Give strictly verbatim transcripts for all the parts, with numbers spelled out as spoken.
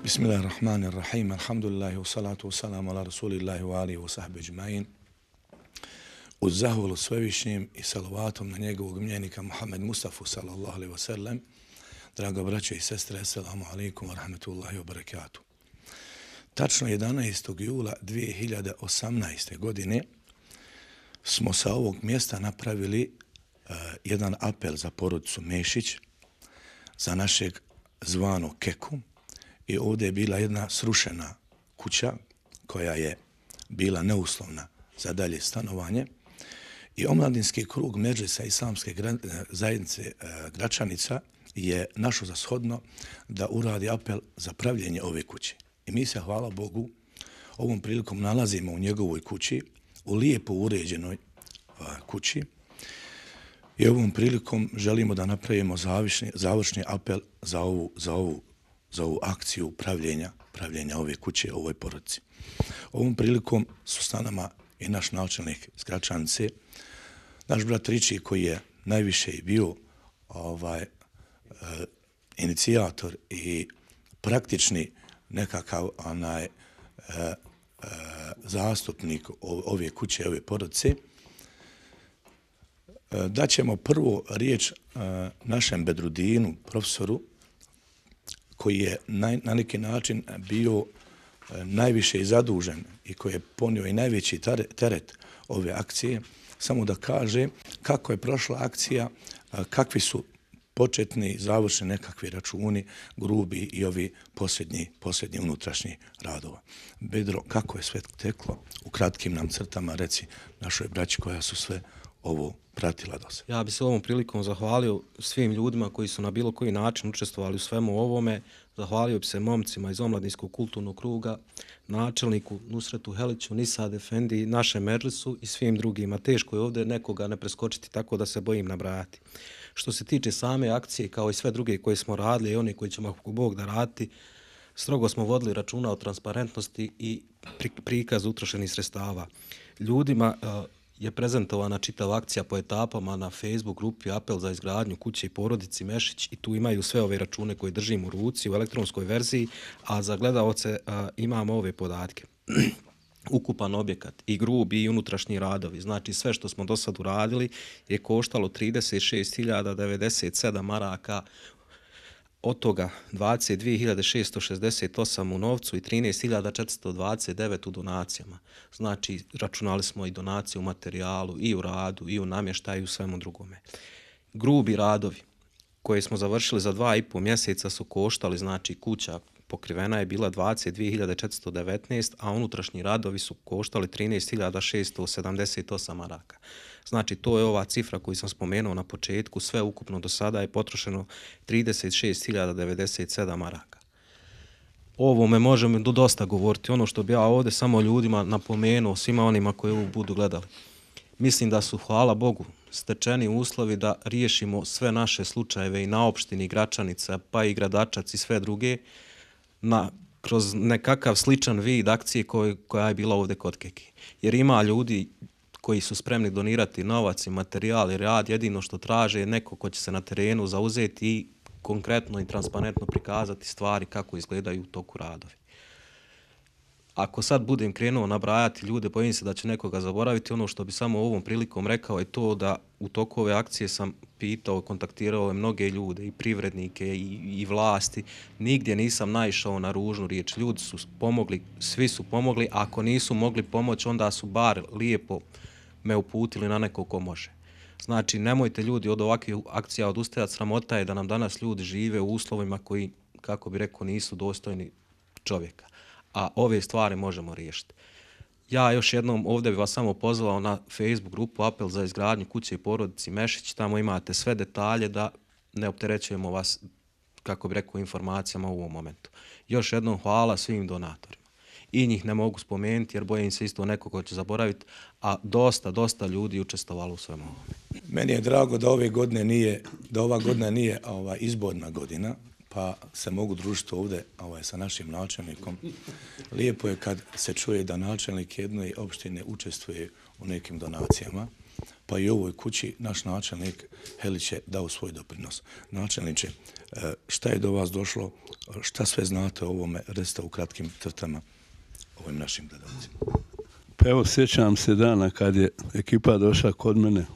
Bismillahirrahmanirrahim. Alhamdulillahi wa salatu wa salamu ala rasulillahi wa alihi wa sahbihi ajma'in. Uz zahvalu svevišnjim i salavatom na njegovog mljenika Muhammed Mustafa sallallahu alaihi wa sallam. Draga braće i sestre, assalamu alaikum wa rahmatullahi wa barakatuh. Tačno jedanaestog jula dvije hiljade osamnaeste. godine smo sa ovog mjesta napravili uh, jedan apel za porodicu Mešić, za našeg zvano Keku. I ovdje je bila jedna srušena kuća koja je bila neuslovna za dalje stanovanje. I omladinski krug Medžlisa Islamske zajednice Gračanica je našao za shodno da uradi apel za pravljenje ove kuće. I mi se, hvala Bogu, ovom prilikom nalazimo u njegovoj kući, u lijepo uređenoj kući. I ovom prilikom želimo da napravimo završni, završni apel za ovu, za ovu za ovu akciju pravljenja, pravljenja ove kuće, ovoj porodici. Ovom prilikom su s nama i naš načelnik iz Gračanice, naš brat Riči koji je najviše i bio ovaj, e, inicijator i praktični nekakav onaj, e, e, zastupnik ove kuće, ove porodice. E, daćemo prvo riječ e, našem Bedrudinu, profesoru, koji je na, na neki način bio e, najviše i zadužen i koji je ponio i najveći teret ove akcije, samo da kaže kako je prošla akcija, a, kakvi su početni, završeni nekakvi računi, grubi i ovi posljednji, posljednji unutrašnji radova. Bedro, kako je sve teklo? U kratkim nam crtama reci našoj braći koja su sve ovo pratila do sada. Ja bih se ovom prilikom zahvalio svim ljudima koji su na bilo koji način učestvovali u svemu ovome. Zahvalio bi se momcima iz omladinskog kulturnog kruga, načelniku Nusretu Heliću, Nisad Efendi, našem Medžlisu i svim drugima. Teško je ovdje nekoga ne preskočiti, tako da se bojim nabrajati. Što se tiče same akcije, kao i sve druge koje smo radili i oni koji ćemo ako Bog da raditi, strogo smo vodili računa o transparentnosti i prikazu utrošenih sredstava. Ljudima je prezentovana čitava akcija po etapama na Facebook grupi Apel za izgradnju kuće i porodici Mešić i tu imaju sve ove račune koje držim u ruci u elektronskoj verziji, a za gledaoce a, imamo ove podatke. Ukupan objekat i grubi i unutrašnji radovi, znači sve što smo do sad uradili je koštalo trideset šest hiljada devedeset sedam maraka, od toga dvadeset dvije hiljade šesto šezdeset osam u novcu i trinaest hiljada četiristo dvadeset devet u donacijama. Znači, računali smo i donacije u materijalu, i u radu, i u namještaju, i u svemu drugome. Grubi radovi koje smo završili za dva i po mjeseca su koštali, znači kuća pokrivena je bila dvadeset dvije hiljade četiristo devetnaest, a unutrašnji radovi su koštali trinaest hiljada šesto sedamdeset osam maraka. Znači, to je ova cifra koju sam spomenuo na početku, sve ukupno do sada je potrošeno trideset šest hiljada devedeset sedam maraka. O ovome možemo dosta govoriti, ono što bi ja ovdje samo ljudima napomenuo, svima onima koji ovo budu gledali. Mislim da su, hvala Bogu, stečeni uslovi da riješimo sve naše slučajeve i na opštini Gračanica, pa i Gradačac i sve druge, na, kroz nekakav sličan vid akcije koji, koja je bila ovdje kod Keki. Jer ima ljudi koji su spremni donirati novac i materijal i rad, jedino što traže je neko ko će se na terenu zauzeti i konkretno i transparentno prikazati stvari kako izgledaju u toku radovi. Ako sad budem krenuo nabrajati ljude, bojim se da će nekoga zaboraviti. Ono što bi samo ovom prilikom rekao je to da u toku ove akcije sam pitao, kontaktirao mnoge ljude, i privrednike, i, i vlasti. Nigdje nisam naišao na ružnu riječ. Ljudi su pomogli, svi su pomogli. Ako nisu mogli pomoći, onda su bar lijepo me uputili na neko ko može. Znači, nemojte ljudi od ovakvih akcija odustajati. Sramota je da nam danas ljudi žive u uslovima koji, kako bi rekao, nisu dostojni čovjeka. A ove stvari možemo riješiti. Ja još jednom ovdje bih vas samo pozvao na Facebook grupu Apel za izgradnju kuće i porodici Mešić. Tamo imate sve detalje da ne opterećujemo vas, kako bih rekao, informacijama u ovom momentu. Još jednom hvala svim donatorima. I njih ne mogu spomenuti jer bojim se isto neko ko će zaboraviti, a dosta, dosta ljudi učestvovalo u svemu ovome. Meni je drago da ove godine nije, da ova godina nije ova izborna godina, pa se mogu družiti ovdje ovaj, sa našim načelnikom. Lijepo je kad se čuje da načelnik jedne opštine učestvuje u nekim donacijama, pa i ovoj kući naš načelnik Helić je dao svoj doprinos. Načelniče, šta je do vas došlo, šta sve znate o ovome, recite u kratkim crtama ovim našim gledalcima. Pa evo, sjećam se dana kad je ekipa došla kod mene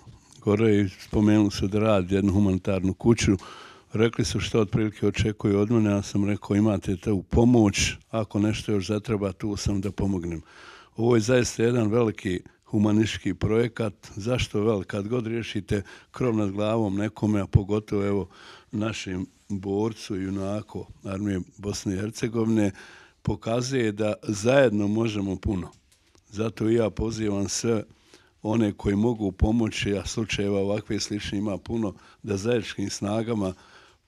gore i spomenuli su da radi jednu humanitarnu kuću. Rekli su što otprilike očekuju od mene, ja sam rekao imate tu pomoć, ako nešto još zatreba tu sam da pomognem. Ovo je zaista jedan veliki humanistički projekat. Zašto velik? Kad god riješite krov nad glavom nekome, a pogotovo evo našim borcu i junaku armije Bosne i Hercegovine, pokazuje da zajedno možemo puno. Zato i ja pozivam sve one koji mogu pomoći, a slučajeva ovakve slične ima puno, da zajedničkim snagama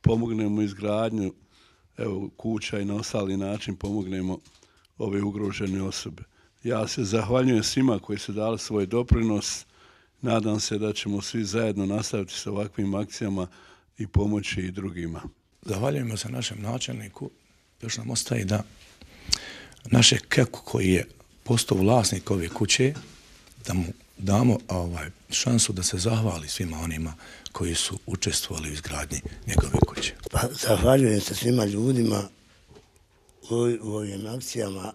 pomognemo izgradnju evo, kuća i na ostali način pomognemo ove ugrožene osobe. Ja se zahvaljujem svima koji su dali svoj doprinos. Nadam se da ćemo svi zajedno nastaviti sa ovakvim akcijama i pomoći i drugima. Zahvaljujemo se našem načelniku. Još nam ostaje da naše Keku koji je postao vlasnik ove kuće, da mu damo ovaj, šansu da se zahvali svima onima koji su učestvovali u izgradnji njegove kuće. Pa, zahvaljujem se svima ljudima u, u ovim akcijama,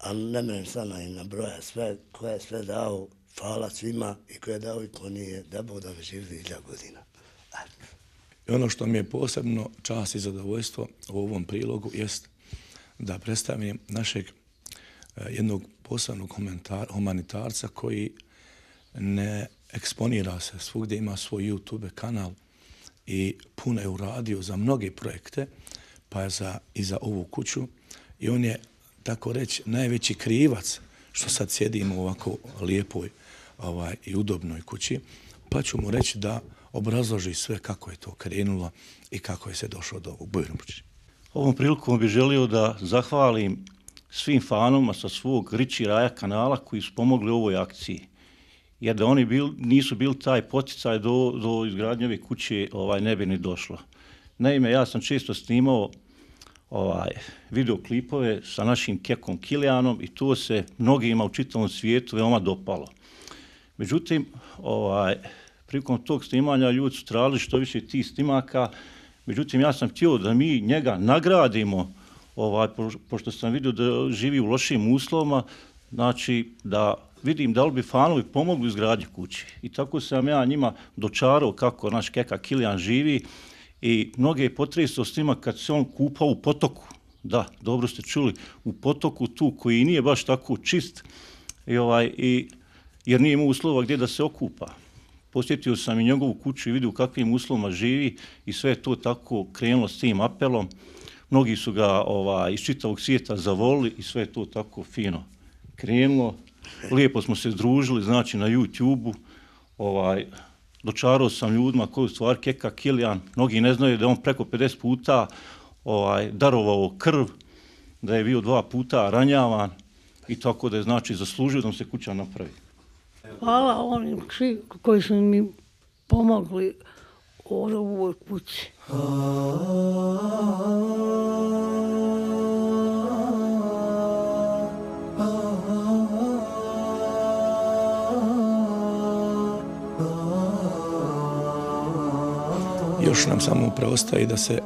a ne mene sada im nabroja sve, ko je sve dao, hvala svima i ko je dao i ko nije, da Bog da mi živi hiljadu godina. I ono što mi je posebno čast i zadovoljstvo u ovom prilogu jest da predstavim našeg jednog posebnog humanitarca koji ne eksponira se svugdje, ima svoj YouTube kanal i puno je uradio za mnoge projekte, pa je za, i za ovu kuću. I on je, tako reći, najveći krivac što sad sjedimo u ovako lijepoj ovaj, i udobnoj kući, pa ću mu reći da obrazloži sve kako je to krenulo i kako je se došlo do ovog Bujromući. Ovom prilikom bih želio da zahvalim svim fanoma sa svog Riči Raja kanala koji su pomogli ovoj akciji. Jer da oni bil, nisu bili taj poticaj do, do izgradnje ove kuće, ovaj, ne bi ni došlo. Naime, ja sam često snimao ovaj, videoklipove sa našim Kekom Kilijanom i to se mnogima u čitavom svijetu veoma dopalo. Međutim, ovaj, prilikom tog snimanja ljudi su tražili što više tih snimaka, međutim ja sam htio da mi njega nagradimo, ovaj, pošto sam vidio da živi u lošim uslovima, znači da vidim da li bi fanovi pomogli u izgradnji kući. I tako sam ja njima dočarao kako naš Keka Kilijan živi i mnoge je potresao s njima kad se on kupao u potoku. Da, dobro ste čuli, u potoku tu koji nije baš tako čist, i ovaj, i, jer nije imao uslova gdje da se okupa. Posjetio sam i njegovu kuću i vidio u kakvim uslovima živi i sve je to tako krenulo s tim apelom. Mnogi su ga ovaj, iz čitavog svijeta zavolili i sve je to tako fino krenulo. Lijepo smo se združili, znači na YouTube-u. Ovaj, dočarao sam ljudima koji u stvari Keka Kilijan. Mnogi ne znaju da je on preko pedeset puta ovaj, darovao krv, da je bio dva puta ranjavan i tako da je znači zaslužio da mu se kuća napravi. Hvala onim koji su mi pomogli u ovoj kući. Još nam samo preostaje da se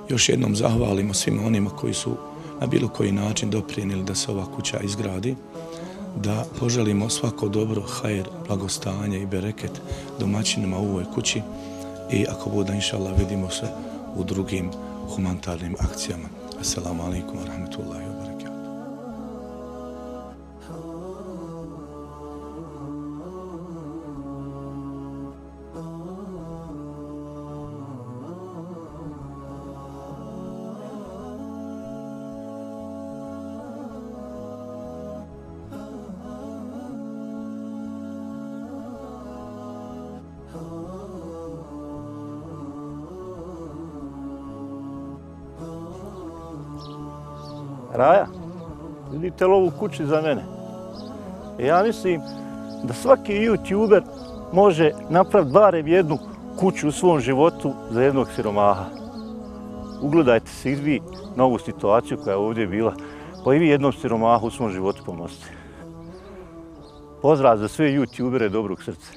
još jednom zahvalimo svima onima koji su na bilo koji način doprinijeli da se ova kuća izgradi, da poželimo svako dobro, hajr, blagostanje i bereket domaćinima u ovoj kući i ako bude, inšallah, vidimo se u drugim humanitarnim akcijama. Assalamu alaikum wa rahmatullahi wa barakatuh. Raja, vidite li ovu kuću za mene? Ja mislim da svaki youtuber može napraviti barem jednu kuću u svom životu za jednog siromaha. Ugledajte se i vi na ovu situaciju koja je ovdje bila, pa i vi jednom siromahu u svom životu pomozite. Pozdrav za sve youtubere dobrog srca.